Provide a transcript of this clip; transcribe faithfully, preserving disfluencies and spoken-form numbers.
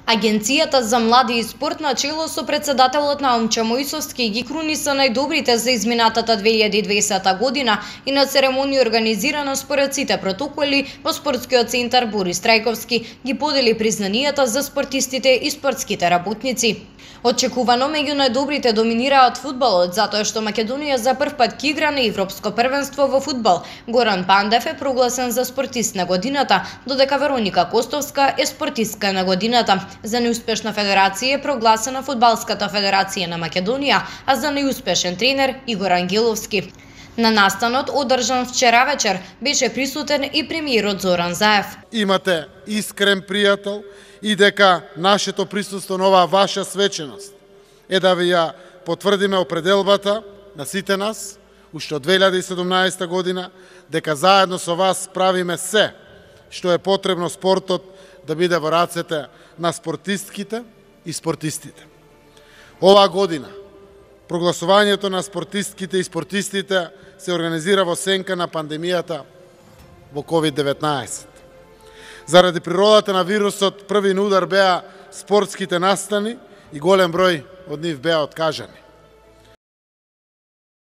Агенцијата за млади и спорт на чело со председателот Наумче Мојсовски ги круниса најдобрите за изминатата две илјади и дваесета година и на церемонија организирана според сите протоколи во спортскиот центар Борис Трајковски ги подели признанијата за спортистите и спортските работници. Очекувано меѓу најдобрите доминираат фудбалот, затоа што Македонија за прв пат ќе игра на Европско првенство во фудбал. Горан Пандев е прогласен за спортист на годината, додека Вероника Костовска е спортистка на годината. За неуспешна федерација е прогласена Фудбалската федерација на Македонија, а за неуспешен тренер Игор Ангеловски. На настанот, одржан вчера вечер, беше присутен и премиерот Зоран Заев. Имате искрен пријател и дека нашето присуство на оваа ваша свеченост е да ви ја потврдиме определбата на сите нас, уште од две илјади и седумнаесета година, дека заедно со вас правиме се што е потребно спортот да биде во рацете на спортистките и спортистите. Оваа година прогласувањето на спортистките и спортистите се организира во сенка на пандемијата во ковид деветнаесет. Заради природата на вирусот, први на удар беа спортските настани и голем број од нив беа откажани.